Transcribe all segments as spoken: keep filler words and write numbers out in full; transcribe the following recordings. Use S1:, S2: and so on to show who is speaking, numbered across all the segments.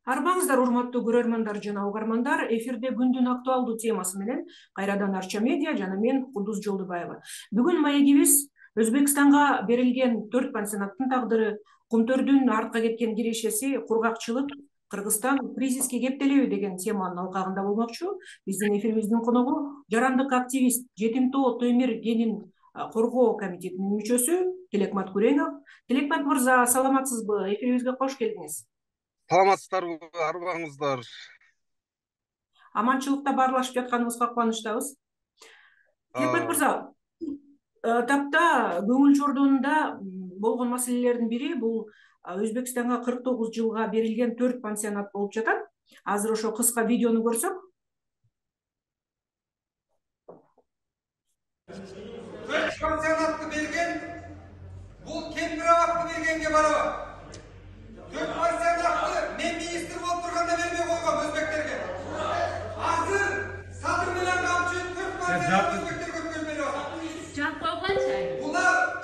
S1: Арбаңыздар, урматтуу көрөрмандар жана угармандар, эфирде күндүн актуалдуу темасы менен кайрадан Арча медиа жана мен Кулдуз Жолдубаева. Бүгүн маегибиз Өзбекстанга берилген төрт пансионаттын тагдыры, Кумтөрдүн артка кеткен кирешеси, кургакчылык, Кыргызстан кризиске кептелеби деген теманын алкагында болмокчу. Биздин эфирибиздин коногу жарандык активист, Жетимтоо Темир кенин коргоо комитетинин мүчөсү Тилекмат Күреңов. Тилекмат мырза, саламатсызбы? Эфирибизге кош келдиңиз.
S2: Саламатсыздарбы, арбаңыздар?
S1: Аманчылыкта баарлашып жатканыбызга кубанычтабыз. Тилекмат мырза, тапта көңүл чордонунда болгон маселелердин бири бул Өзбекстанга кырк тогуз жылга берилген төрт пансионат болуп жатат. Азыр ошо кыска видеону көрсөк.
S3: төрт пансионатты берген, бул Кемпирабадты бергенге барабар. төрт пансионатты мен министр болуп турганда бербей койгон өзбектерге. Азыр Садыр менен камчы төрт пансионатты өзбектерге өткөрүп берип атат.
S4: Жатпай канча?
S3: Булар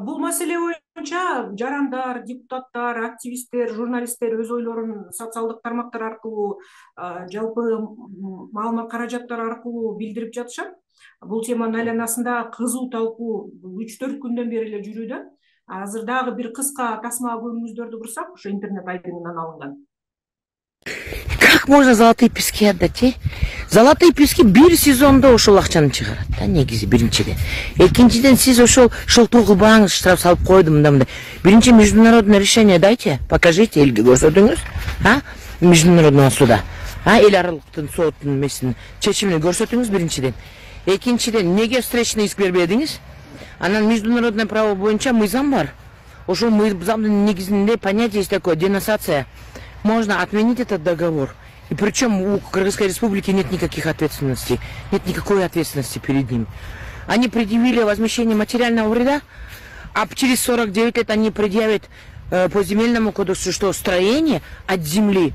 S1: Бул маселе боюнча жарандар, депутаттар, активисттер, журналисттер өз ойлорун социалдык тармактар аркылуу, жалпы маалымат каражаттар аркылуу билдирип жатышат. Бул теманын айланасында кызуу талкуу үч төрт күндөн бери эле жүрүүдө. Азыр дагы бир кыска тасма көрүүңүздөрдү курсак, ошо интернет айдыңынан алынган.
S5: Как можно золотые пески отдать, э? Золотые пески бир сезондо ошол акчаны чыгарат да, негизи биринчиден. Экинчиден, сиз ошол шылтоо кылбаңыз, штраф салып койдум мындай мындай. Биринчи международное решение дайте, покажите, элге көрсөтүңүз, а? Международного суда. А, эл аралыктын соттун эмесин чечимин көрсөтүңүз биринчиден. Экинчиден, эмнеге встречный иск бербедиңиз? Анан международное право боюнча мыйзам бар. Ошол мыйзамдын негизинде понятие есть такое денонсация. Можно отменить этот договор. И причем у Кыргызской Республики нет никаких ответственностей, нет никакой ответственности перед ним. Они предъявили возмещение материального вреда, а через сорок девять лет они предъявят э, по земельному кодексу, что строение от земли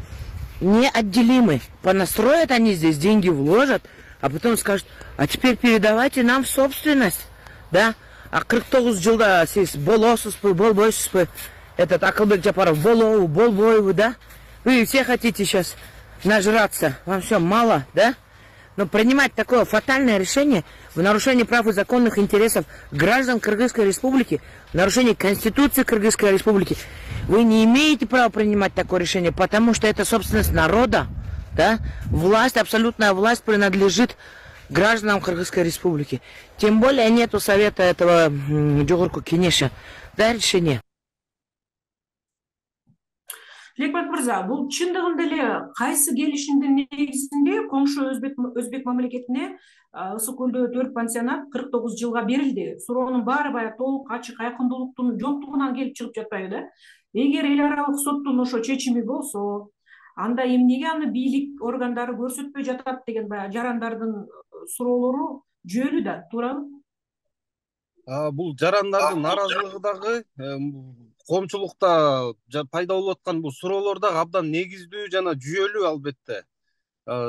S5: неотделимы. Понастроят они здесь, деньги вложат, а потом скажут, а теперь передавайте нам в собственность. Да? А кырк тогуз жылда сиз болосузбу, болбойсузбу? Этот Акылбек Жапаров, болоу, болбойбу, да? Вы все хотите сейчас нажраться, вам все мало, да? Но принимать такое фатальное решение в нарушении прав и законных интересов граждан Кыргызской Республики, в нарушении Конституции Кыргызской Республики, вы не имеете права принимать такое решение, потому что это собственность народа, да? Власть, абсолютная власть принадлежит гражданам Кыргызской Республики. Тем более нету совета этого Жогорку Кенеша. Да, решение.
S1: Тилекмат мырза, бул чындыгында эле кайсы келишимдин негизинде коңшу өзбек өзбек мамлекетине Ысык көлдө төрт пансионат кырк тогуз жылга берилди? Суроонун баары баягы толук ачык айкындуулуктун жоктугунан келип чыгып жатпайбы да? Эгер эл аралык соттун ошо чечими болсо, анда эмнеге аны бийлик органдары көрсөтпөй жатат деген баягы жарандардын суроолору жүйөлүү да, туурабы?
S2: Бул жарандардын нааразылыгы дагы коомчулукта пайда болуп аткан бул суроолор дагы абдан негиздүү жана жүйөлүү албетте.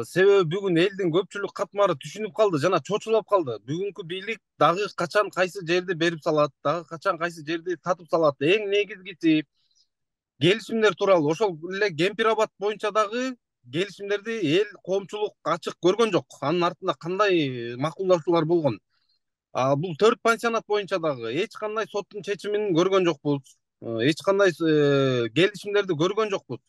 S2: Себеби бүгүн элдин көпчүлүк катмары түшүнүп калды жана чочулап калды. Бүгүнкү бийлик дагы качан кайсы жерди берип салат, дагы качан кайсы жерди татып салат. Эң негизгиси келишимдер тууралуу. Ошол эле Кемпирабад боюнча дагы келишимдерди эл коомчулук ачык көргөн жок. Анын артында кандай макулдашуулар болгон. Бул төрт пансионат боюнча дагы эч кандай соттун чечимин көргөн жокпуз. Эч кандай келишимдерди көргөн жокпуз.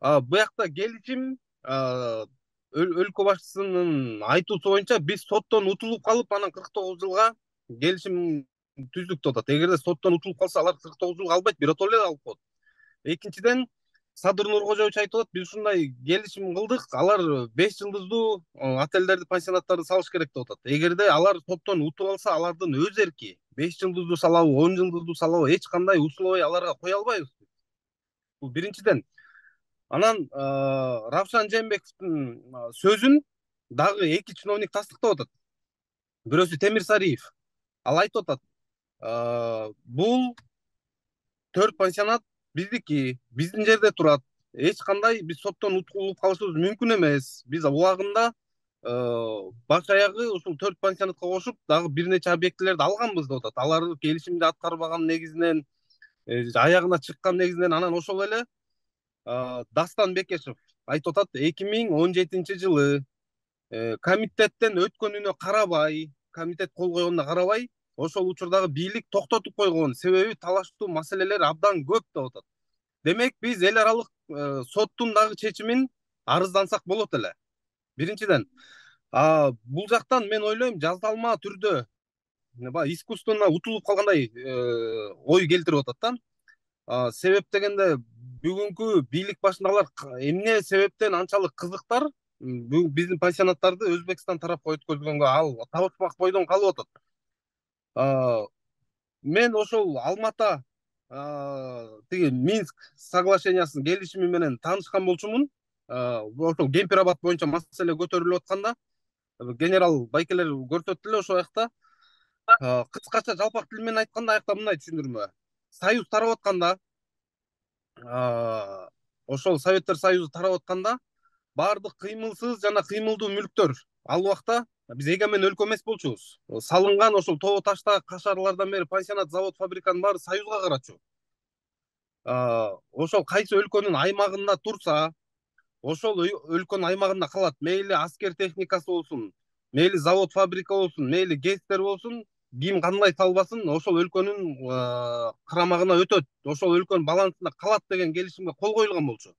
S2: Буякта келишим өлкө башчысынын айтуусу боюнча биз соттон утулуп калып, анан кырк тогуз жылга келишим түздүк деп атат. Эгерде соттон утулуп калса, алар кырк тогуз жылга албайт, биротоло эле алып коет. Экинчиден, Садыр Нуркожоевич айтып атат, биз ушундай келишим кылдык, алар беш жылдыздуу отелдерди, пансионаттарды салыш керек деп атат. Эгерде алар соттон утуп алса, алардын өз эрки. беш жылдыздуу салабы, он жылдыздуу салабы эч кандай условий аларга кое албайбыз. Бул биринчиден. Анан Равшан Жээнбековдун сөзүн дагы эки чиновник тастыктап атат. Бирөөсү Темир Сариев. Ал айтып атат, бул төрт пансионат биздики, биздин жерде турат. Эч кандай биз соттон утулуп калышыбыз мүмкүн эмес. Биз убагында баш аягы ушул төрт пансионатка кошуп дагы бир нече объектилерди алганбыз деп атат. Алар келишимди аткарбаган негизинен, аягына чыккан негизинен. Анан ошол эле Дастан Бекешев айтып атат, эки миң он жетинчи жылы комитеттен өткөнүнө карабай, комитет кол койгонуна карабай, ошол учурдагы бийлик токтотуп койгон. Себеби талаштуу маселелер абдан көп деп атат. Демек биз эл аралык соттун дагы чечимин арыздансак болот эле. Биринчиден, бул жактан мен ойлойм жазалма түрдө искусственно утулуп калгандай ой келтирип атат да. Себеп дегенде бүгүнкү бийлик башындагылар эмне себептен анчалык кызыктар биздин пансионаттарды Өзбекстан тарапка өткөзгөнгө ал табышпак бойдон калып атат. Мен ошол Алмата тиги Минск соглашениясынын келишими менен таанышкан болчумун. Ошол Кемпир-Абад боюнча маселе көтөрүлүп атканда генерал байкелер көрсөттү эле ошол жакта. Кыскача жалпак тил менен айтканда аякта мындай түшүндүрмө. Союз тарап атканда, ошол Советтер Союзу тарап атканда баардык кыймылсыз жана кыймылдуу мүлктөр ал убакта биз эгемен өлкө эмес болчубуз. Салынган ошол тоо ташта кашарлардан бери пансионат, завод, фабриканын баары Союзга карачу. Ошол кайсы өлкөнүн аймагында турса, ошол өлкөнүн аймагында калат. Мейли аскер техникасы болсун, мейли завод, фабрика болсун, мейли ГЭСтер болсун, ким кандай талбасын, ошол өлкөнүн карамагына өтөт. Ошол өлкөнүн балансында калат деген келишимге кол коюлган болчу.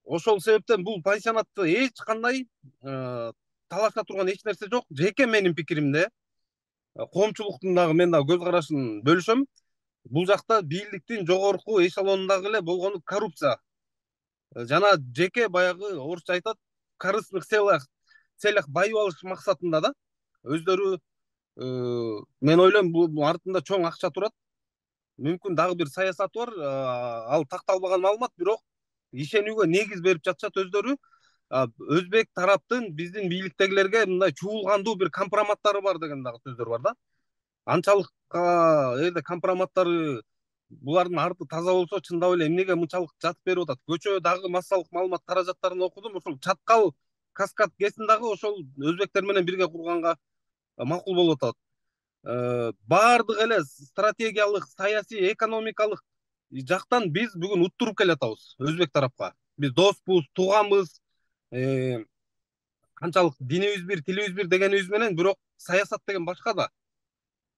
S2: Ошол себептен бул пансионатты эч кандай талаша турган эч нерсе жок. Жеке менин пикиримде, коомчулуктун дагы мен дагы көз карашын бөлүшөм. Бул жакта бийликтин жогорку эшелонундагы эле болгону коррупция. Жана жеке баягы орусча айтат, корыстных целях целях байып алыш максатында да өздөрү, мен ойлойм бул артында чоң акча турат. Мүмкүн дагы бир саясаты бар, ал такталбаган маалымат, бирок ишенүүгө негиз берип жатышат өздөрү. Өзбек тараптын биздин бийликтегилерге мындай чуулгандуу бир компроматтары бар деген дагы сөздөр бар да. Анчалык эгерде компроматтары булардын арты таза болсо, чындап эле эмнеге мынчалык жатып берип атат. Көчө дагы массалык маалымат каражаттарын окудум. Ошол Чаткал Каскад ГЭСин дагы ошол өзбектер менен бирге курганга макул болуп атат. Баардык эле стратегиялык, саясий, экономикалык жактан биз бүгүн уттуруп келатабыз өзбек тарапка. Биз доспуз, тууганбыз, канчалык динибиз бир, тилибиз бир дегенибиз менен, бирок саясат деген башка да.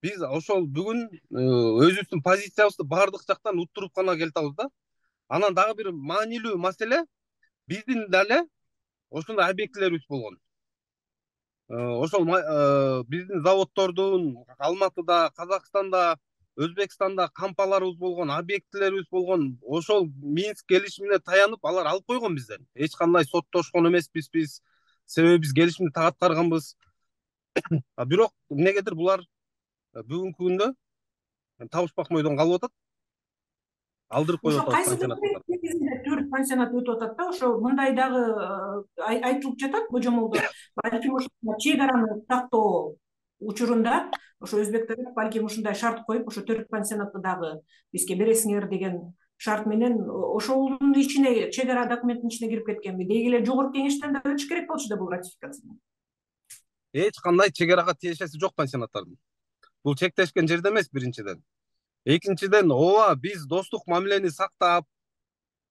S2: Биз ошол бүгүн өзүбүздүн позициябызды баардык жактан уттуруп гана келатабыз да. Анан дагы бир маанилүү маселе, биздин дале ошондой объектилерибиз болгон. Ошол биздин заводдордун Алматыда, Казакстанда, Өзбекстанда кампаларыбыз болгон, объектилерибиз болгон. Ошол Минск келишимине таянып алар алып койгон бизден. Эч кандай соттошкон эмеспиз биз. Себеби биз келишимди так аткарганбыз. Бирок эмнегедир булар бүгүнкү күндө табышпак бойдон калып атат. Алдырып коюп атат пансионаттарды.
S1: Төрт пансионат өтүп атат да, ошо мындай дагы айтылып жатат божомолдо. Балким ошо чек араны тактоо учурунда ошо өзбектер балким ушундай шарт коюп, ошо төрт пансионатты дагы бизге бересиңер деген шарт менен ошолдун ичине, чек ара документтин ичине кирип кеткенби? Деги эле жогорку кеңештен да өтүш керек болчу да бул ратификациядан.
S2: Эч кандай чек арага тиешеси жок пансионаттардын. Бул чектешкен жерде эмес, биринчиден. Экинчиден, ооба биз достук мамилени сактап,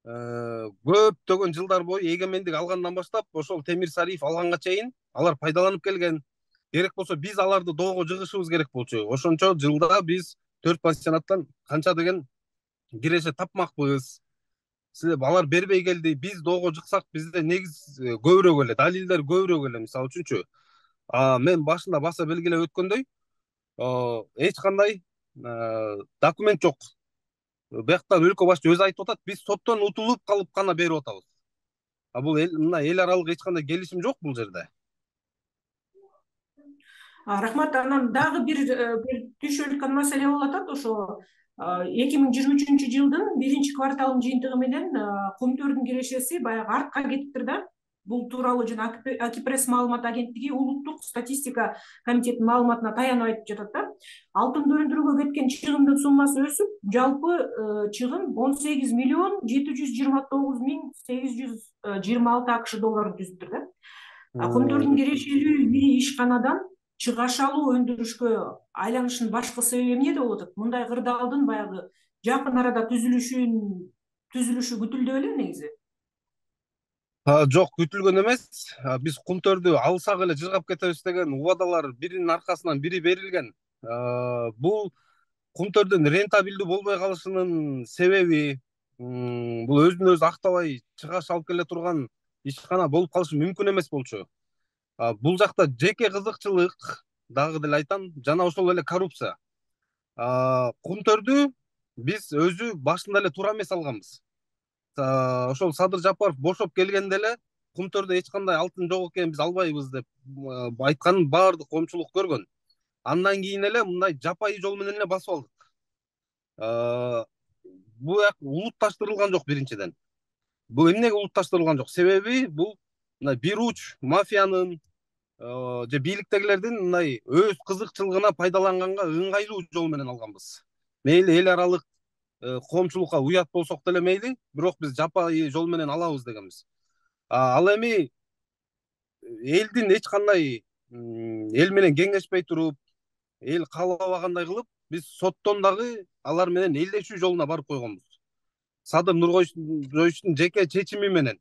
S2: көптөгөн жылдар бою эгемендик алгандан баштап, ошол Темир Сариев алганга чейин алар пайдаланып келген. Керек болсо биз аларды доого жыгышыбыз керек болчу. Ошончо жылда биз төрт пансионаттан канча деген киреше тапмакпыз. Себеби алар бербей келди. Биз доого жыксак, бизде негиз көбүрөөк эле, далилдер көбүрөөк эле. Мисалы үчүнчү, мен башында баса белгилеп өткөндөй, эч кандай документ жок. Бияктан өлкө башчы өзү айтып атат, биз соттон утулуп калып гана берип атабыз. А бул мына эл аралык эч кандай келишим жок бул жерде.
S1: Рахмат. Анан дагы бир түшүп өткөн маселе болуп атат. Ошо эки миң жыйырма үчүнчү жылдын биринчи кварталынын жыйынтыгы менен Көмтөрдүн кирешеси баягы артка кетиптир да. бул тууралуу жана Акипресс маалымат агенттиги улуттук статистика комитетинин маалыматына таянып айтып жатат да. Алтынды өндүрүүгө кеткен чыгымдын суммасы өсүп, жалпы чыгым он сегиз миллион жети жүз жыйырма тогуз миң сегиз жүз жыйырма алты акш долларын түзүптүр да. Комдордун кирешелүү бири ишканадан чыгашалуу өндүрүшкө айланышынын башкы себеби эмнеде болуп атат? Мындай кырдаалдын баягы жакын арада түзүлүшүн түзүлүшү күтүлдү беле негизи?
S2: Жок, күтүлгөн эмес. Биз Кумтөрдү алсак эле жыргап кетебиз деген убадалар биринин аркасынан бири берилген. Бул Кумтөрдүн рентабелдүү болбой калышынын себеби бул өзүн өзү актабай чыгаш алып келе турган ишкана болуп калышы мүмкүн эмес болчу. Бул жакта жеке кызыкчылык дагы деле айтам, жана ошол эле коррупция. Кумтөрдү биз өзү башында эле туура эмес алганбыз. Ошол Садыр Жапаров бошоп келгенде эле Кумтөрдө эч кандай алтын жок экен, биз албайбыз деп айтканын баардык коомчулук көргөн. Андан кийин эле мындай жапайы жол менен эле басып алдык. Бул улутташтырылган жок биринчиден. Бул эмнеге улутташтырылган жок? Себеби бул мындай бир уч мафиянын же бийликтегилердин мындай өз кызыкчылыгына пайдаланганга ыңгайлуу жол менен алганбыз. Мейли эл аралык коомчулукка уят болсок деле мейли, бирок биз жапайы жол менен алабыз дегенбиз. Ал эми элдин эч кандай эл менен кеңешпей туруп, эл каалабагандай кылып, биз соттон дагы алар менен элдешүү жолуна барып койгонбуз. Садыр Нуркоюштун жеке чечими менен.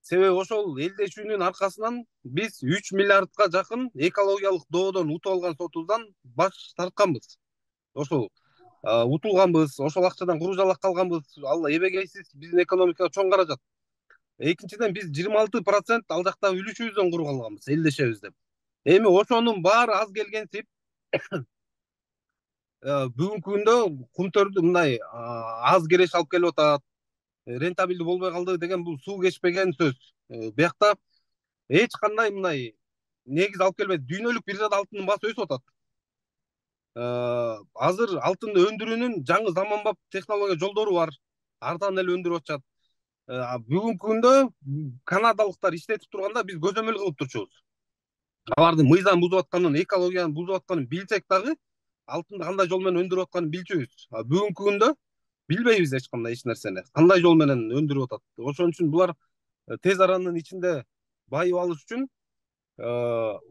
S2: Себеби ошол элдешүүнүн аркасынан биз үч миллиардка жакын экологиялык доодон утуп алган сотубуздан баш тартканбыз. Ошол утулганбыз, ошол акчадан куру-жалак калганбыз. Ал эбегейсиз биздин экономикага чоң каражат. Экинчиден биз жыйырма алты процент ал жактан үлүшүбүздөн куруп алганбыз, элдешебиз деп. Эми ошонун баары аз келгенсип бүгүнкү күндө Кумтөрдү мындай аз кереш алып келип атат, рентабелдүү болбой калды деген бул суу кечпеген сөз. Биякта эч кандай мындай негиз алып келбейт. Дүйнөлүк биржада алтындын баасы өсүп атат. Азыр алтынды өндүрүүнүн жаңы заманбап технология жолдору бар. Арзан эле өндүрүп атышат. Бүгүнкү күндө канадалыктар иштетип турганда биз көзөмөл кылып турчубуз. Алардын мыйзам бузуп атканын, экологияны бузуп атканын билсек дагы, алтынды кандай жол менен өндүрүп атканын билчүбүз. Бүгүнкү күндө билбейбиз эч кандай эч нерсени. Кандай жол менен өндүрүп атат. Ошон үчүн булар тез аранын ичинде байып алыш үчүн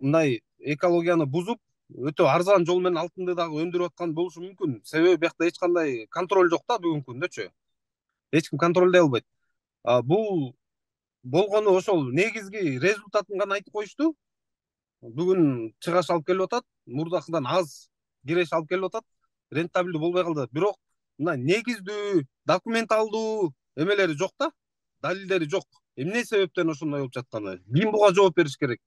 S2: мындай экологияны бузуп, өтө арзан жол менен алтынды дагы өндүрүп аткан болушу мүмкүн. Себеби биякта эч кандай контроль жок да бүгүнкү күндөчү. Эч ким контролдой албайт. Бул болгону ошол негизги результатын гана айтып коюшту. Бүгүн чыгаш алып келип атат, мурдакыдан аз киреш алып келип атат, рентабелдүү болбой калды. Бирок мына негиздүү, документалдуу эмелери жок да, далилдери жок. Эмне себептен ошондой болуп жатканы? Ким буга жооп бериш керек?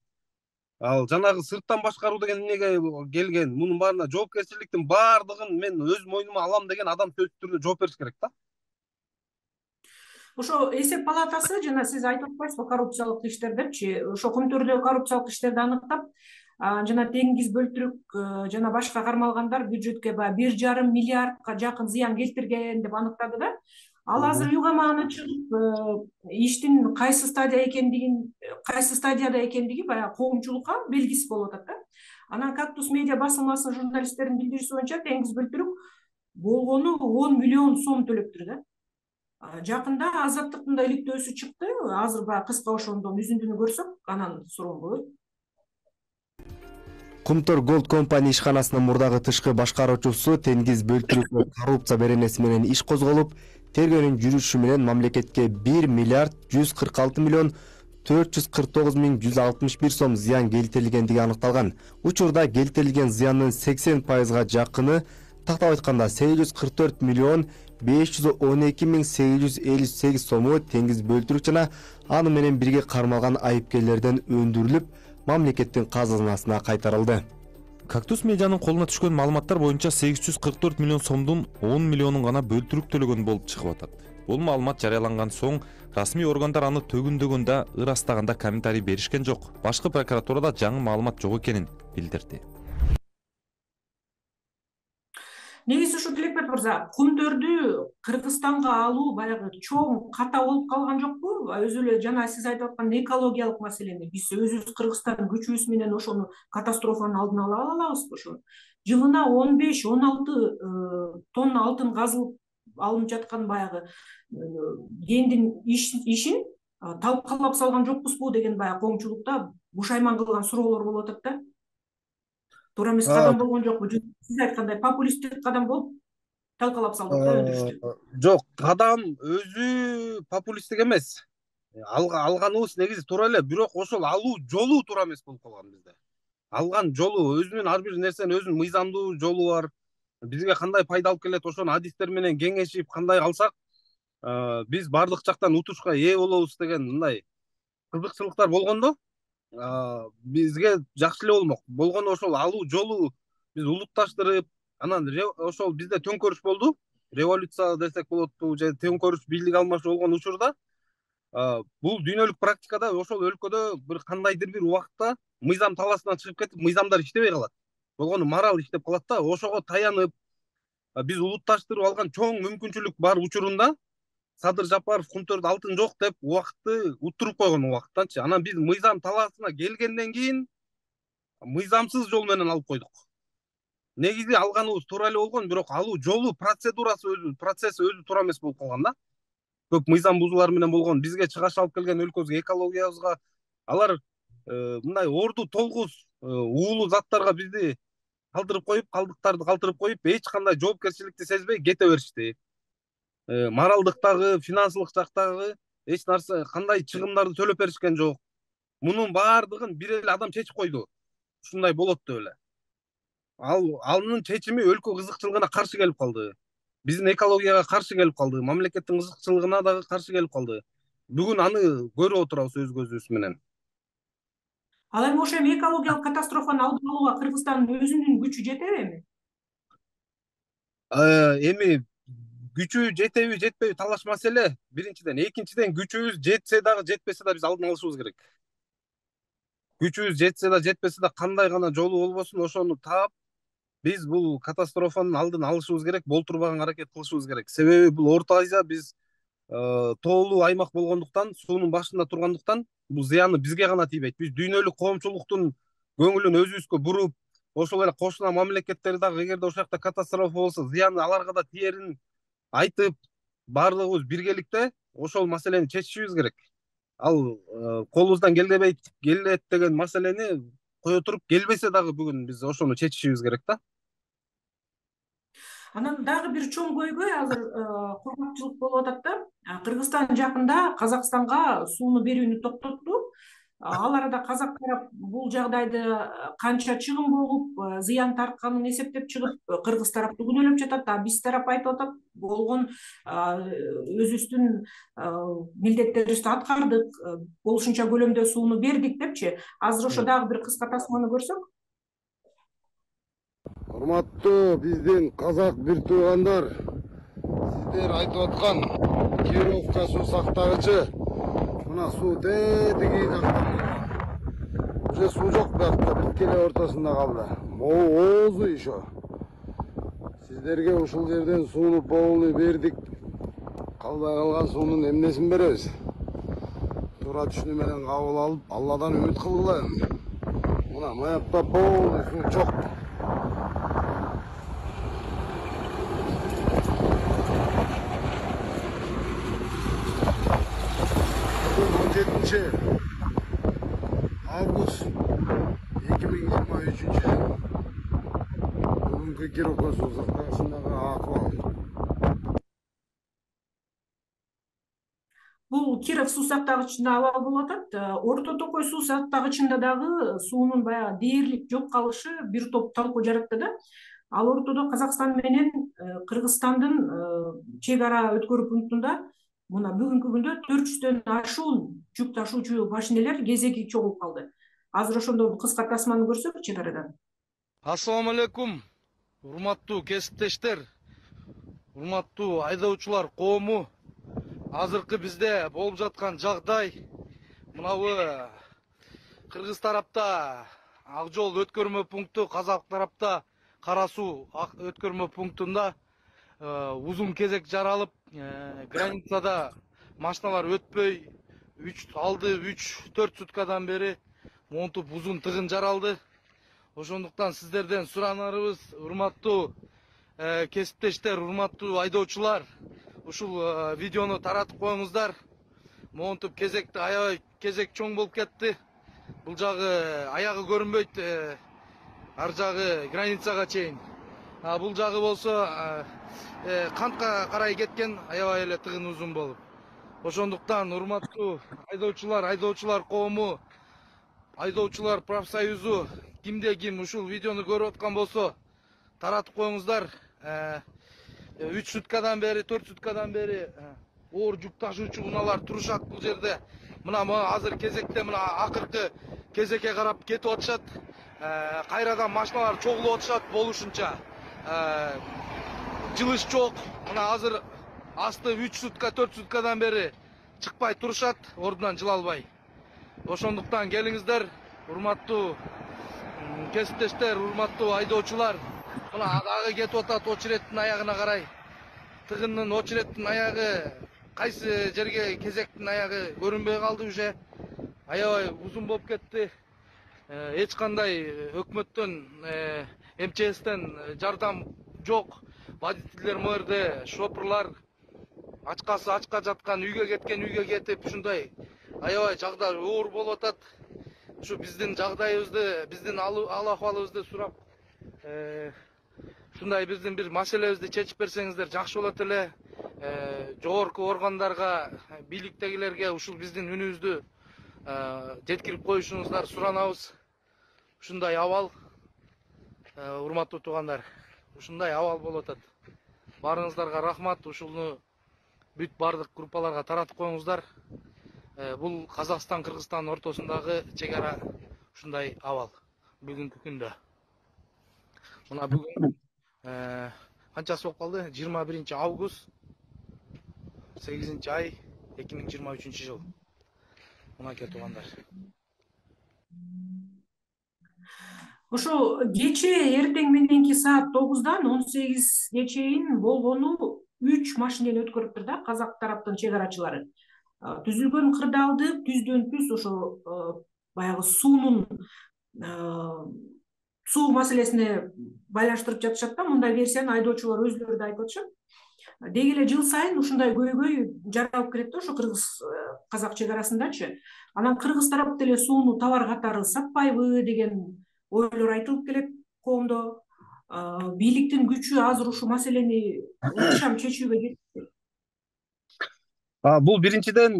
S2: Ал жанагы сырттан башкаруу деген эмнеге келген? Мунун баарына жоопкерчиликтин баардыгын мен өз мойнума алам деген адам сөзсүз түрдө жооп бериш керек да.
S1: Ошо эсеп палатасы жана сиз айтып атпайсызбы коррупциялык иштерди депчи, ошо Кумтөрдө коррупциялык иштерди аныктап, жана Теңиз Бөлтүрүк жана башка кармалгандар бюджетке баягы бир жарым миллиардка жакын зыян келтирген деп аныктады да. Ал азыр үйгө мааны чыгып, иштин кайсы стадия экендигин, кайсы стадияда экендиги баягы коомчулукка белгисиз болуп атат да. Анан Кактус медиа басылмасынын журналисттеринин билдирүүсү боюнча Теңиз Бөлтүрүк болгону он миллион сом төлөптүр да. Жакында Азаттыктын да иликтөөсү чыкты. Азыр баягы кыска ошондон үзүндүнү көрсөк, анан суроом болот.
S4: Кумтөр Gold Company ишканасынын мурдагы тышкы башкаруучусу Теңиз Бөлтүрүккө коррупция беренеси менен иш козголуп, тергөөнүн жүрүшү менен мамлекетке бир миллиард жүз кырк алты миллион төрт жүз кырк тогуз миң жүз алтымыш бир сом зыян келтирилгендиги аныкталган. Учурда келтирилген зыяндын сексен пайызга жакыны, тактап айтканда сегиз жүз кырк төрт миллион беш жүз он эки миң сегиз жүз элүү сегиз сому Теңиз Бөлтүрүк жана аны менен бирге кармалган айыпкерлерден өндүрүлүп, мамлекеттин казынасына кайтарылды.
S6: Кактус медианын колуна түшкөн маалыматтар боюнча сегиз жүз кырк төрт миллион сомдун он миллионун гана Бөлтүрүк төлөгөн болуп чыгып атат. Бул маалымат жарыяланган соң расмий органдар аны төгүндөгөндө ырастаганда комментарий беришкен жок. Башкы прокуратурада жаңы маалымат жок экенин билдирди.
S1: Негизи ушу Тилекбек мырза, Кумтөрдү Кыргызстанга алуу баягы чоң ката болуп калган жокпу? Өзү эле жана сиз айтып аткан экологиялык маселени биз өзүбүз Кыргызстан күчүбүз менен ошону катастрофанын алдын ала алабызбы ошо? Жылына он беш он алты тонна алтын казылып алынып жаткан баягы кендин ишин талкалап салган жокпузбу деген баягы коомчулукта бушайман кылган суроолор болуп атат да. Туура эмес кадам болгон жокпу? Сиз айткандай популисттик кадам болуп талкалап салдык да өндүрүштү.
S2: Жок, кадам өзү популисттик эмес. Алганыбыз негизи туура эле, бирок ошол алуу жолу туура эмес болуп калган бизде. Алган жолу, өзүнүн ар бир нерсенин өзүнүн мыйзамдуу жолу бар. Бизге кандай пайда алып келет, ошону адистер менен кеңешип кандай алсак, биз бардык жактан утушка ээ болобуз деген мындай кызыкчылыктар болгондо, бизге жакшы эле болмок. Болгону ошол алуу жолу биз улутташтырып, анан ошол бизде төңкөрүш болду. Революция десек болотпу, же төңкөрүш бийлик алмашуу болгон учурда бул дүйнөлүк практикада ошол өлкөдө бир кандайдыр бир убакытта мыйзам талаасынан чыгып кетип, мыйзамдар иштебей калат. Болгону мораль иштеп калат да, ошого таянып биз улутташтырып алган чоң мүмкүнчүлүк бар учурунда Садыр Жапаров Кумтөрдө алтын жок деп убакытты уттуруп койгон убакыттанчы. Анан биз мыйзам талаасына келгенден кийин мыйзамсыз жол менен алып койдук. Негизи алганыбыз туура эле болгон, бирок алуу жолу, процедурасы өзү, процесси өзү туура эмес болуп калган да. Көп мыйзам бузуулар менен болгон. Бизге чыгаш алып келген өлкөбүзгө, экологиябызга алар мындай орду толгуз уулуу заттарга бизди калтырып коюп, калдыктарды калтырып коюп, эч кандай жоопкерчиликти сезбей кете беришти. Моралдыктагы, финансылык жактагы эч нарса, кандай чыгымдарды төлөп беришкен жок. Мунун баардыгын бир эле адам чечип койду. Ушундай болот деп эле. Ал анын чечими өлкө кызыкчылыгына каршы келип калды. Биздин экологияга каршы келип калды, мамлекеттин кызыкчылыгына дагы каршы келип калды. Бүгүн аны көрүп отурабыз өз көзүбүз менен.
S1: Ал эми ошо эми экологиялык катастрофаны алдын алууга Кыргызстандын өзүнүн күчү жетеби эми?
S2: Эми күчү жетеби, жетпеби талаш маселе. Биринчиден, экинчиден күчүбүз жетсе дагы, жетпесе да биз алдын алышыбыз керек. Күчүбүз жетсе да, жетпесе да кандай гана жолу болбосун, ошону таап, биз бул катастрофанын алдын алышыбыз керек, болтурбаганга аракет кылышыбыз керек. Себеби бул Орто Азия, биз тоолуу аймак болгондуктан, суунун башында тургандыктан, бул зыяны бизге гана тийбейт. Биз дүйнөлүк коомчулуктун көңүлүн өзүбүзгө буруп, ошол эле кошуна мамлекеттер дагы эгерде ошол жакта катастрофа болсо, зыяны аларга да тиерин айтып, баардыгыбыз биргеликте ошол маселени чечишибиз керек. Ал колубуздан келбейт, келет деген маселени кое туруп, келбесе дагы бүгүн биз ошону чечишибиз керек да.
S1: Анан дагы бир чоң көйгөй азыр кургакчылык болуп атат да. Кыргызстан жакында Казакстанга сууну берүүнү токтотту. Ал арада казак тарап бул жагдайды канча чыгым болуп, зыян тартканын эсептеп чыгып, кыргыз тарапты күнөөлөп жатат. А биз тарап айтып атат, болгон өзүбүздүн милдеттерибизди аткардык, болушунча көлөмдө сууну бердик депчи. Азыр ошо дагы бир кыска тасманы көрсөк.
S7: Урматтуу биздин казак бир туугандар, сиздер айтып аткан Кировка суу сактагычы мына суу тетиги жакта. Уже суу жок биякта, биткеле ортосунда калды. Могу оозу еще. Сиздерге ушул жерден сууну полный бердик. Калбай калган суунун эмнесин беребиз? Туура түшүнүү менен кабыл алып, Алладан үмүт кылгыла. Мына маякта полный суу чок. он жетинчи август эки миң жыйырма үчүнчү жыл. Бүгүнкү Кировка суу сактагычындагы акыбал.
S1: Бул Киров суу сактагычында абал болуп атат. Орто Токой суу сактагычында дагы суунун баягы дээрлик жок калышы бир топ талкуу жаратты да. Ал ортодо Казакстан менен Кыргызстандын чек ара өткөрүү пунктунда мына бүгүнкү күндө төрт жүздөн ашуун жүк ташуучу машинелер кезеги чогулуп калды. Азыр ошондон кыска тасманы көрсөк чек арадан.
S8: Ассаламу алейкум, урматтуу кесиптештер, урматтуу айдоочулар коому. Азыркы бизде болуп жаткан жагдай мынабы кыргыз тарапта ак жол өткөрмө пункту, казак тарапта Кара суу өткөрмө пунктунда узун кезек жаралып, границада машиналар өтпөй, үч алды үч төрт суткадан бери монтуп узун тыгын жаралды. Ошондуктан сиздерден суранарыбыз, урматтуу кесиптештер, урматтуу айдоочулар, ушул видеону таратып коюңуздар. Монтуп кезекти аябай кезек чоң болуп кетти. Бул жагы аягы көрүнбөйт, ар жагы границага чейин. А бул жагы болсо кантка карай кеткен, аябай эле тыгын узун болуп. Ошондуктан урматтуу айдоочулар, айдоочулар коому, айдоочулар профсоюзу, кимде ким ушул видеону көрүп аткан болсо, таратып коюңуздар. үч суткадан бери, төрт суткадан бери оор жүк ташуучу унаалар турушат бул жерде. Мына азыр кезекте, мына акыркы кезекке карап кетип атышат. Кайрадан машиналар чогулуп атышат болушунча. Жылыш жок. Мына азыр асты үч сутка, төрт суткадан бери чыкпай турушат, ордунан жыла албай. Ошондуктан келиңиздер, урматтуу кесиптештер, урматтуу айдоочулар. Мына дагы кетип атат очереттин аягына карай. Тыгындын очереттин аягы кайсы жерге кезектин аягы көрүнбөй калды уже. Аябай узун болуп кетти. Эч кандай өкмөттөн, эм че эстен жардам жок. Водительдер мэрде, шопурлар ачкасы ачка жаткан, үйгө кеткен үйгө кетип, ушундай аябай жагдай оор болуп атат. Ушу биздин жагдайыбызды, биздин ал акыбалыбызды сурап, ушундай биздин бир маселебизди чечип берсеңиздер жакшы болот эле. Жогорку органдарга, бийликтегилерге ушул биздин үнүбүздү жеткирип коюшуңуздар суранабыз. Ушундай абал, урматтуу туугандар, ушундай абал болуп атат. Баарыңыздарга рахмат. Ушуну бүт бардык группаларга таратып коюңуздар. Бул Казакстан, Кыргызстан ортосундагы чек ара ушундай абал бүгүнкү күндө. Мына бүгүн канчасы болуп калды? жыйырма биринчи август, сегизинчи ай, эки миң жыйырма үчүнчү жыл. Мынакей туугандар.
S1: Ошо кече эртең мененки саат тогуздан он сегизге чейин болгону үч машинени өткөрүптүр да казак тараптын чек арачылары. Түзүлгөн кырдаалды түздөн түз ошо баягы суунун суу маселесине байланыштырып жатышат да. Мындай версияны айдоочулар өзүлөрү да айтып атышат. Деги эле жыл сайын ушундай көйгөй жаралып келет да ошо кыргыз казак чек арасындачы. Анан кыргыз тарап деле сууну товар катары сатпайбы деген ойлор айтылып келет коомдо. Бийликтин күчү азыр ушул маселени ыкчам чечүүгө жетти.
S2: Бул биринчиден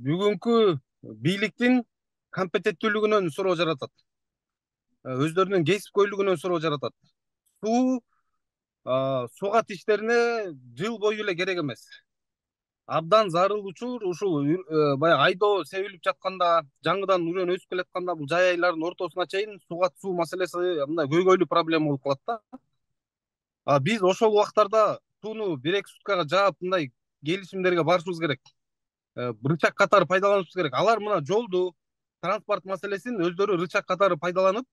S2: бүгүнкү бийликтин компетенттүүлүгүнөн суроо жаратат. Өздөрүнүн кесипкөйлүгүнөн суроо жаратат. Суу сугат иштерине жыл бою эле керек эмес. Абдан зарыл учур ушул баягы айдоо себилип жатканда, жаңыдан үрөн өсүп келатканда бул жай айлардын ортосуна чейин сугат суу маселеси мындай көйгөйлүү проблема болуп калат да. Биз ошол убактарда сууну бир эки суткага жаап мындай келишимдерге барышыбыз керек. Рычаг катары пайдаланышыбыз керек. Алар мына жолду, транспорт маселесин өздөрү рычаг катары пайдаланып,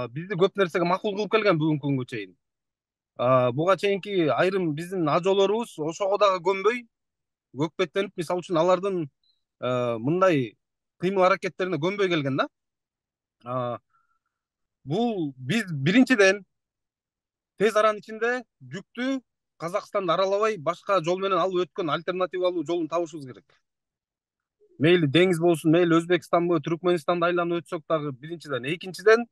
S2: бизди көп нерсеге макул кылып келген бүгүнкү күнгө чейин. Буга чейинки айрым биздин ажоолорубуз ошого дагы көнбөй, көкпеттенип, мисалы үчүн алардын мындай кыймыл аракеттерине көнбөй келген да. Бул биз биринчиден тез аранын ичинде жүктү Казакстанды аралабай башка жол менен алып өткөн альтернативалуу жолун табышыбыз керек. Мейли деңиз болсун, мейли Өзбекстанбы, Түркменистанды айланып өтсөк дагы биринчиден. Экинчиден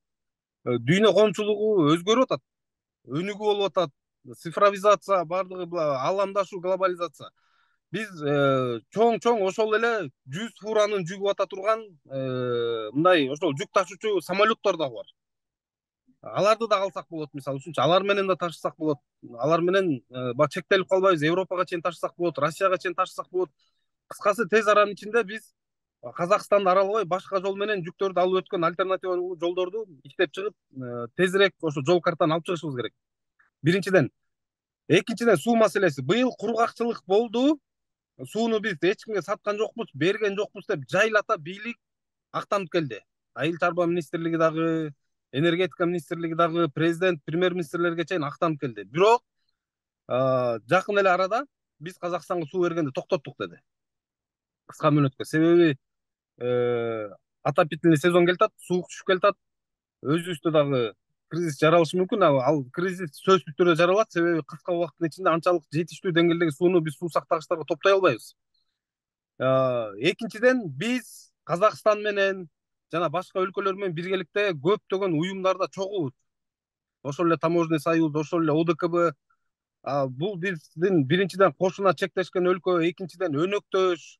S2: дүйнө коомчулугу өзгөрүп атат. Өнүгүү болуп атат. Цифровизация, бардыгы ааламдашуу, глобализация. Биз чоң-чоң ошол эле жүз фуранын жүгүп ата турган мындай ошол жүк ташуучу самолеттор дагы бар. Аларды да алсак болот, мисалы үчүн, алар менен да ташысак болот. Алар менен чектелип калбайбыз, Европага чейин ташысак болот, Россияга чейин ташысак болот. Кыскасы тез аранын ичинде биз Казакстанды аралабай башка жол менен жүктөрдү алып өткөн альтернативалуу жолдорду иштеп чыгып, тезирээк ошо жол картаны алып чыгышыбыз керек. Биринчиден. Экинчиден суу маселеси. Быйыл кургакчылык болду. Сууну биз эч кимге саткан жокпуз, берген жокпуз деп жайлата бийлик актанып келди. Айыл чарба министрлиги дагы, энергетика министрлиги дагы, президент, премьер министрлерге чейин актанып келди. Бирок жакын эле арада биз Казакстанга суу бергенди токтоттук деди. Кыска мөөнөткө. Себеби отопительный сезон келатат, суук түшүп келатат. Өзүбүздө дагы кризис жаралышы мүмкүн. Ал кризис сөзсүз түрдө жаралат, себеби кыска убакыттын ичинде анчалык жетиштүү деңгээлдеги сууну биз суу сактагычтарга топтой албайбыз. Экинчиден, биз Казакстан менен жана башка өлкөлөр менен биргеликте көптөгөн уюмдарда чогулбуз. Ошол эле Таможенный союз, ошол эле О Д К Б. Бул биздин биринчиден кошуна чектешкен өлкө, экинчиден өнөктөш,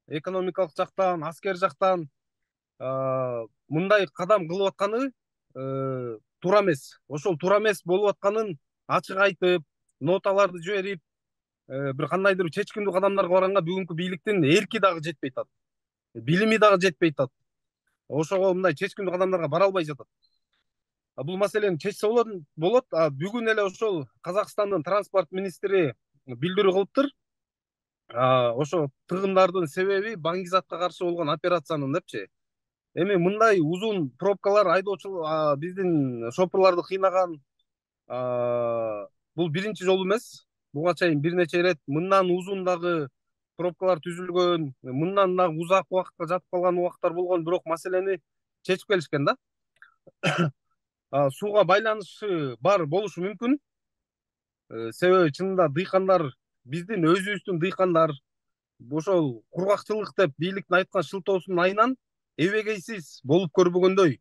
S2: экономикалык жактан, аскер жактан мындай кадам кылып атканы туура эмес. Ошол туура эмес болуп атканын ачык айтып, ноталарды жиберип, бир кандайдыр чечкиндүү кадамдарга барганга бүгүнкү бийликтин эрки дагы жетпей атат. Билими дагы жетпей атат. Ошого мындай чечкиндүү кадамдарга бара албай жатат. Бул маселени чечсе болот. Бүгүн эле ошол Казакстандын транспорт министри билдирүү кылыптыр. Ошо тыгындардын себеби баңгизатка каршы болгон операциянын депчи. Эми мындай узун пробкалар айдоочу биздин шопурларды кыйнаган бул биринчи жолу эмес. Буга чейин бир нече ирет мындан узун дагы пробкалар түзүлгөн, мындан дагы узак убакытка жатып калган убакыттар болгон, бирок маселени чечип келишкен да. Сууга байланышы бар болушу мүмкүн. Себеби чынында дыйкандар, биздин өзүбүздүн дыйкандар ошол кургакчылык деп бийликтин айткан шылтоосунун айынан эбегейсиз болуп көрбөгөндөй,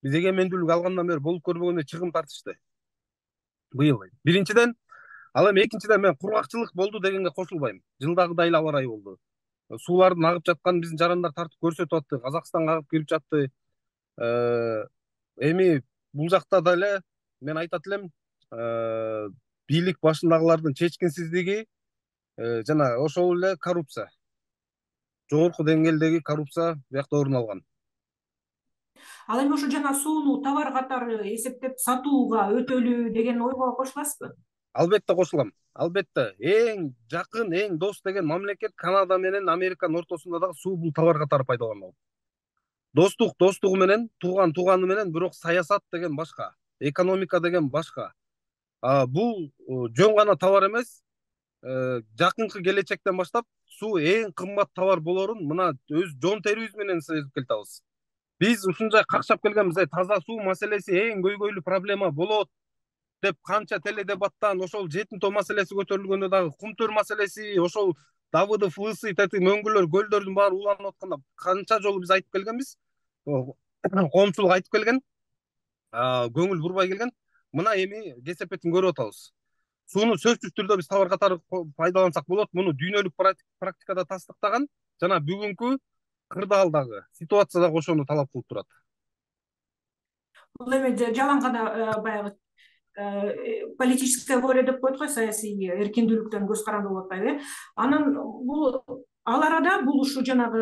S2: биз эгемендүүлүк алгандан бери болуп көрбөгөндөй чыгым тартышты быйыл. Биринчиден, ал эми экинчиден мен кургакчылык болду дегенге кошулбайм. Жылдагыдай эле аба ырайы болду. Суулардын агып жатканын биздин жарандар тартып көрсөтүп атты, Казакстанга агып кирип жатты. Эми бул жакта деле мен айтат элем, бийлик башындагылардын чечкинсиздиги жана ошол эле коррупция. Жогорку деңгээлдеги коррупция биякта орун алган.
S1: Ал эми ошо жана сууну товар катары эсептеп сатууга өтөлүү деген ойго кошуласызбы?
S2: Албетте кошулам. Албетте. Эң жакын, эң дос деген мамлекет Канада менен Американын ортосунда дагы суу бул товар катары пайдаланылат. Достук достугу менен, тууган тууганы менен, бирок саясат деген башка, экономика деген башка. Бул жөн гана товар эмес. Жакынкы келечектен баштап суу эң кымбат товар болорун мына өз жон терибиз менен сезип келатабыз. Биз ушунчай какшап келгенбиз, таза суу маселеси эң көйгөйлүү проблема болот деп канча теледебаттан, ошол жетим тоо маселеси көтөрүлгөндө дагы кумтөр маселеси, ошол Давыдов, Лысый, тети мөңгүлөр, көлдөрдүн баары уланып атканда канча жолу биз айтып келгенбиз. Коомчулук айтып келген, көңүл бурбай келген. Мына эми кесепетин көрүп атабыз. Сууну сөзсүз түрдө биз товар катары пайдалансак болот. Муну дүйнөлүк практикада тастыктаган жана бүгүнкү кырдаалдагы ситуация дагы ошону талап кылып турат.
S1: Бул эми жалаң гана баягы политическая воля деп коет го, саясий эркиндүүлүктөн көз каранды болуп атпайбы? Анан бул ал арада бул ушу жанагы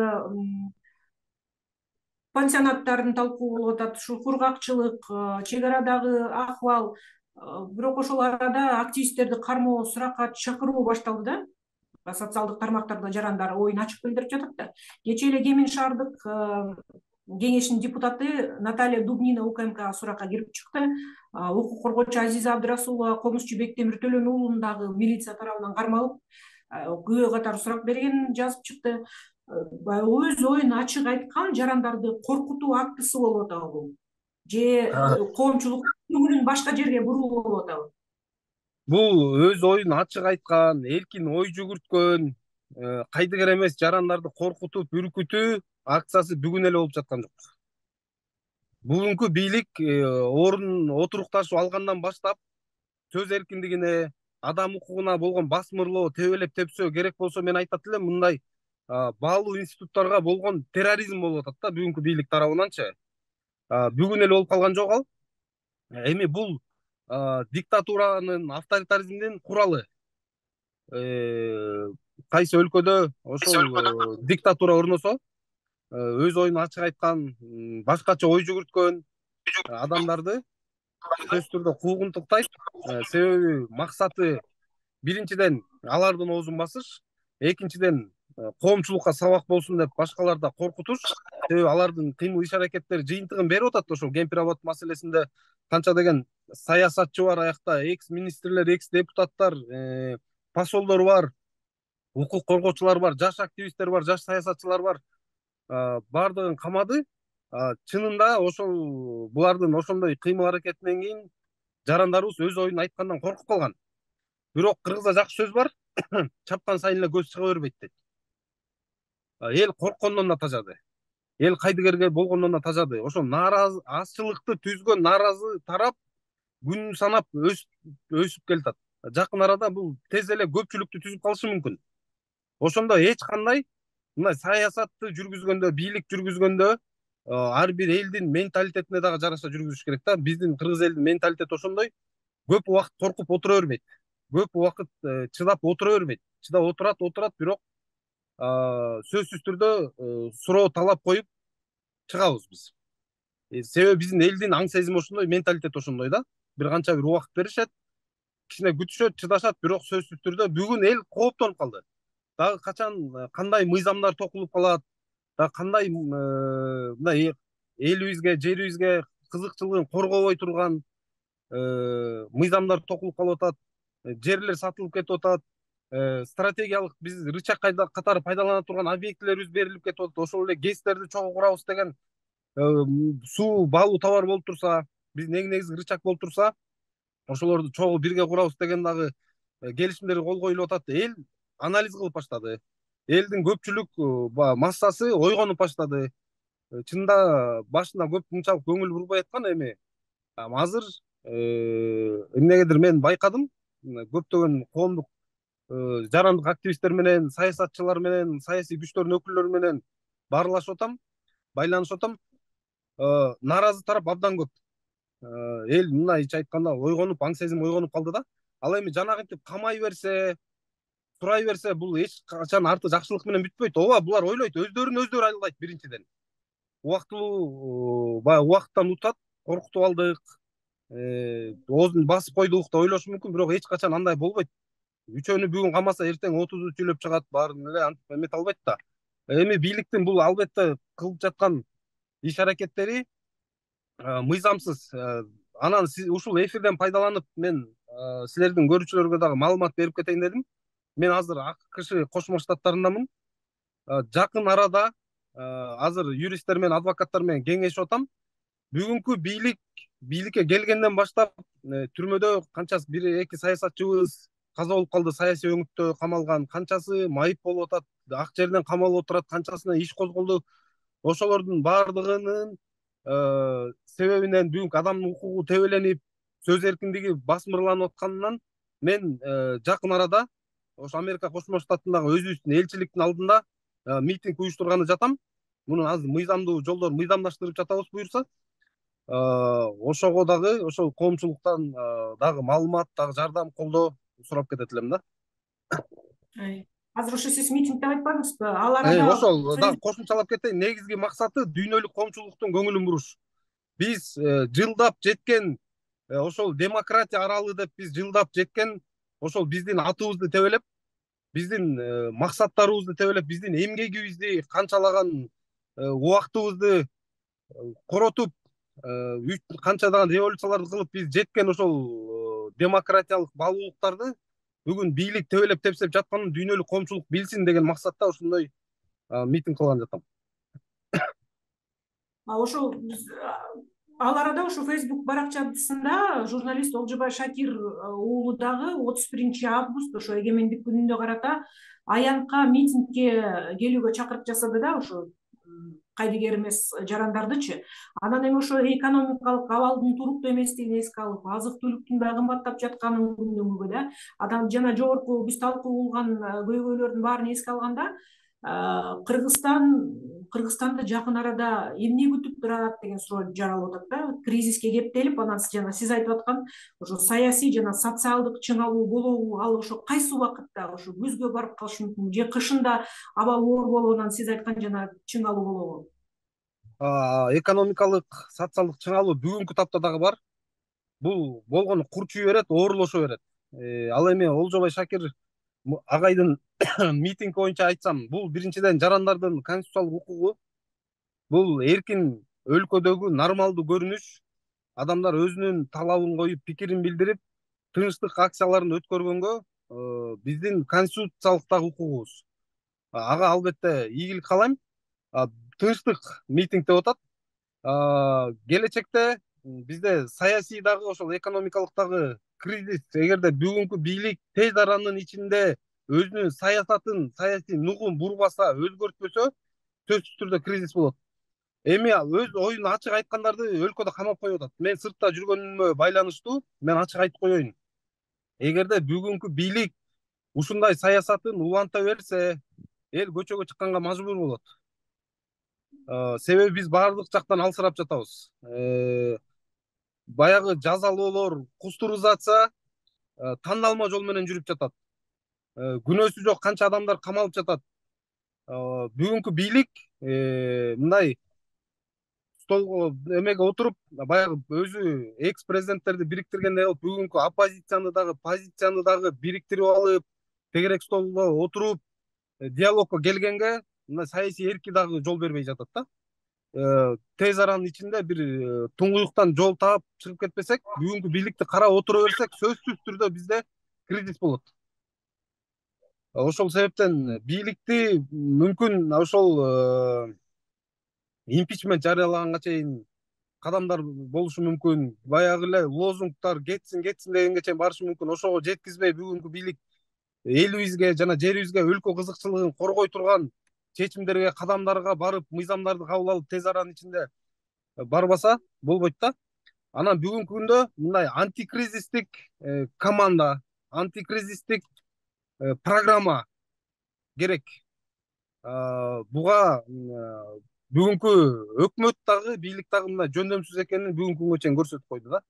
S1: пансионаттардын талкуу болуп атат, ушу кургакчылык, чек арадагы акыбал. Бирок ошол арада активисттерди кармоо, суракка чакыруу башталды да. Социалдык тармактарда жарандар оюн ачык билдирип жатат да. Кечээ эле Кемин шаардык кеңешинин депутаты Наталья Дубнина У К М Кга суракка кирип чыкты. Укук коргоочу Азиза Абдрасулова, комузчу Бектемир Төлөнүү уулун дагы милиция тарабынан кармалып, күбө катары сурак бергенин жазып чыкты. Өз оюн ачык айткан жарандарды коркутуу актысы болуп атабы бул? Же коомчулук көңүлүн башка жерге буруу болуп атабы?
S2: Бул өз оюн ачык айткан, эркин ой жүгүрткөн, кайдыгер эмес жарандарды коркутуп, үркүтүү акциясы бүгүн эле болуп жаткан жок. Бүгүнкү бийлик орун отурукташып алгандан баштап сөз эркиндигине, адам укугуна болгон басмырлоо, тебелеп тепсөө керек болсо мен айтат элем, мындай баалуу институттарга болгон терроризм болуп атат да бүгүнкү бийлик тарабынанчы. Бүгүн эле болуп калган жок ал. Эми бул диктатуранын, авторитаризмдин куралы. Кайсы өлкөдө ошол диктатура орносо, өз оюн ачык айткан, башкача ой жүгүрткөн адамдарды сөзсүз түрдө куугунтуктайт. Себеби максаты биринчиден алардын оозун басыш, экинчиден коомчулукка сабак болсун деп башкалар да коркутуш. Себеби алардын кыймыл иш аракеттери жыйынтыгын берип атат ошол Кемпир абад маселесинде. Канча деген саясатчы бар аякта, экс министрлер, экс депутаттар, посолдор бар, укук коргоочулар бар, жаш активисттер бар, жаш саясатчылар бар. Бардыгын камады. Чынында ошол булардын ошондой кыймыл аракетинен кийин жарандарыбыз өз оюн айткандан коркуп калган. Бирок кыргызда жакшы сөз бар. Чапкан сайын эле көз чыга бербейт дейт. Эл корккондон да тажады. Эл кайдыгерге болгондон да тажады. Ошол нааразы азчылыкты түзгөн нааразы тарап күн санап өсүп келатат. Жакын арада бул тез эле көпчүлүктү түзүп калышы мүмкүн. Ошондо эч кандай мындай саясатты жүргүзгөндө, бийлик жүргүзгөндө ар бир элдин менталитетине дагы жараша жүргүзүш керек да. Биздин кыргыз элдин менталитети ошондой. Көп убакыт коркуп отура бербейт. Көп убакыт чыдап отура бербейт. Чыдап отурат, отурат, бирок сөзсүз түрдө суроо талап коюп чыгабыз биз. Себеби биздин элдин аң сезими ошондой, менталитет ошондой да. Бир канча бир убакыт беришет, кичине күтүшөт, чыдашат, бирок сөзсүз түрдө бүгүн эл кооптонуп калды. Дагы качан кандай мыйзамдар токулуп калат, дагы кандай мындай элибизге, жерибизге кызыкчылыгын коргобой турган мыйзамдар токулуп калып атат, жерлер сатылып кетип атат, стратегиялык биз рычаг катары пайдалана турган объектилерибиз берилип кетип атат. Ошол эле гэстерди чогуу курабыз деген суу баалуу товар болуп турса, биздин эң негизги рычаг болуп турса, ошолорду чогуу бирге курабыз деген дагы келишимдер кол коюлуп атат. Эл анализ кылып баштады. Элдин көпчүлүк массасы ойгонуп баштады. Чынында башында көп мынчалык көңүл бурбай аткан, эми азыр эмнегедир мен байкадым, көптөгөн коомдук жарандык активисттер менен, саясатчылар менен, саясий күчтөрдүн өкүлдөрү менен баарлашып атам, байланышып атам. Нааразы тарап абдан көп. Эл мындайча айтканда ойгонуп, аң сезим ойгонуп калды да. Ал эми жанагынтип камай берсе, сурай берсе, бул эч качан арты жакшылык менен бүтпөйт. Ооба, булар ойлойт, өздөрүн өздөрү алдайт биринчиден. Убактылуу баягы убакыттан утат, коркутуп алдык, оозун басып койдук деп ойлошу мүмкүн, бирок эч качан андай болбойт. Үчөөнү бүгүн камаса, эртең отузу сүйлөп чыгат, баарын эле антип эмете албайт да. Эми бийликтин бул албетте кылып жаткан иш аракеттери мыйзамсыз. Анан ушул эфирден пайдаланып мен силердин көрүүчүлөргө дагы маалымат берип кетейин дедим. Мен азыр АКШ Кошмо Штаттарындамын. Жакын арада азыр юристтер менен, адвокаттар менен кеңешип атам. Бүгүнкү бийлик бийликке келгенден баштап түрмөдө канчасы бир эки саясатчыбыз каза болуп калды, саясий өңүттө камалган, канчасы майып болуп атат, ак жерден камалып отурат, канчасына иш козголду. Ошолордун баардыгынын себебинен бүгүнкү адамдын укугу тебеленип, сөз эркиндиги басмырланып атканынан мен жакын арада ошо Америка Кошмо Штатындагы өзүбүздүн элчиликтин алдында митинг уюштурганы жатам. Муну азыр мыйзамдуу жолдор мыйзамдаштырып жатабыз буюрса. Ошого дагы ошол коомчулуктан дагы маалымат, дагы жардам, колдоо сурап кетет элем да.
S1: Азыр ошо сиз митинг деп айтпадыңызбы? Ал арада
S2: ошол дагы кошумчалап кетейин. Негизги максаты дүйнөлүк коомчулуктун көңүлүн буруш. Биз жылдап жеткен ошол демократия аралы деп биз жылдап жеткен ошол биздин атыбызды тебелеп, биздин максаттарыбызды тебелеп, биздин эмгегибизди, канчалаган убактыбызды коротуп, канчадан революцияларды кылып биз жеткен ошол демократиялык баалуулуктарды бүгүн бийлик тебелеп тепсеп жатканын дүйнөлүк коомчулук билсин деген максатта ошондой митинг кылган жатам.
S1: Ошол ал арада ошо Facebook баракчасында журналист Олжобай Шакир уулу дагы отуз биринчи август ошо эгемендик күнүнө карата аянтка митингге келүүгө чакырык жасады да, ошо кайдыгер эмес жарандардычы. Анан эми ошо экономикалык абалдын туруктуу эместигин эске алып, азык түлүктүн да кымбаттап жатканын күндүмгү да, адам жана жогорку биз талкуу кылган көйгөйлөрдүн баарын эске алганда, Кыргызстан Кыргызстанды жакын арада эмне күтүп турат деген суроо жаралып атат да. Кризиске кептелип, анан жана сиз айтып аткан ошо саясий жана социалдык чыңалуу болобу, ал ошо кайсы убакытта ошо күзгө барып калышы мүмкүн, же кышында абал оор болобу, анан сиз айткан жана чыңалуу болобу?
S2: Экономикалык, социалдык чыңалуу бүгүнкү тапта дагы бар. Бул болгону курчуй берет, оорлошо берет. Ал эми Олжобай Шакир агайдын митинг боюнча айтсам, бул биринчиден жарандардын конституциялык укугу. Бул эркин өлкөдөгү нормалдуу көрүнүш. Адамдар өзүнүн талабын коюп, пикирин билдирип, тынчтык акцияларын өткөргөнгө биздин конституциялык дагы укугубуз. Ага албетте ийгилик каалайм. Тынчтык митинг деп атат. Келечекте бизде саясий дагы ошол экономикалык дагы кризис, эгерде бүгүнкү бийлик тез аранын ичинде өзүнүн саясатын, саясий нугун бурбаса, өзгөртпөсө, сөзсүз түрдө кризис болот. Эми өз оюн ачык айткандарды өлкөдө камап коюп атат. Мен сыртта жүргөнүмө байланыштуу, мен ачык айтып коеюн. Эгерде бүгүнкү бийлик ушундай саясатын уланта берсе, эл көчөгө чыкканга мажбур болот. Себеби биз баардык жактан алсырап жатабыз. Баягы жазалоолор, кустуризация тандалма жол менен жүрүп жатат. Күнөөсү жок канча адамдар камалып жатат. Бүгүнкү бийлик мындай столго эмеге отуруп, баягы өзү экс президенттерди бириктиргендей кылып, бүгүнкү оппозицияны дагы, позицияны дагы бириктирип алып, тегерек столго отуруп, диалогко келгенге мына саясий эрки дагы жол бербей жатат да. Тез аранын ичинде бир туңгуюктан жол таап чыгып кетпесек, бүгүнкү бийликти карап отура берсек, сөзсүз түрдө бизде кризис болот. Ошол себептен бийликти мүмкүн ошол импичмент жарыялаганга чейин кадамдар болушу мүмкүн. Баягы эле лозунгдар кетсин, кетсин дегенге чейин барышы мүмкүн. Ошого жеткизбей бүгүнкү бийлик элибизге жана жерибизге өлкө кызыкчылыгын коргой турган чечимдерге, кадамдарга барып, мыйзамдарды кабыл алып, тез аранын ичинде барбаса болбойт да. Анан бүгүнкү күндө мындай антикризистик команда, антикризистик программа керек. Буга бүгүнкү өкмөт дагы, бийлик дагы мындай жөндөмсүз экенин бүгүнкү күнгө чейин көрсөтүп койду да.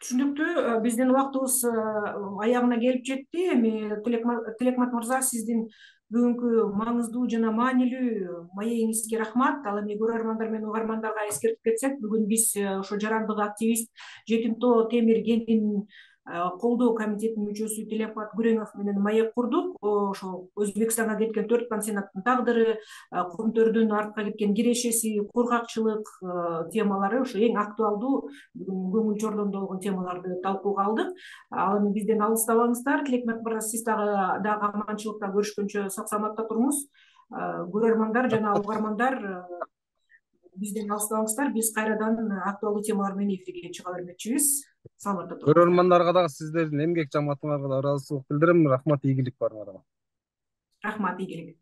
S1: Түшүнүктүү. Биздин убактыбыз аягына келип жетти. Эми Тилекмат мырза, сиздин бүгүнкү маңыздуу жана маанилүү маегиңизге рахмат. Ал эми көрөрмандар менен угармандарга эскертип кетсек, бүгүн биз ошо жарандык активист Жетим Тоо Темир кентин колдоо комитетинин мүчөсү Тилекмат Күреңов менен маек курдук. Ошо Өзбекстанга кеткен төрт пансионаттын тагдыры, Комтөрдүн артка кеткен кирешеси, кургакчылык темалары ошо эң актуалдуу бүгүн көңүл чордондо болгон темаларды талкууга алдык. Ал эми бизден алыстабаңыздар. Тилекмат мырза, сиз дагы дагы аманчылыкта көрүшкөнчө сак саламатта туруңуз. Көрөрмандар жана угармандар, бизден алыстабаңыздар. Биз кайрадан актуалдуу темалар менен эфирге чыга бермекчибиз. Саламатта туруңуздар.
S2: Көрөрмандарга дагы сиздердин эмгек жамаатыңарга да ыраазычылык билдирем. Рахмат, ийгилик баарыңарга.
S1: Рахмат, ийгилик.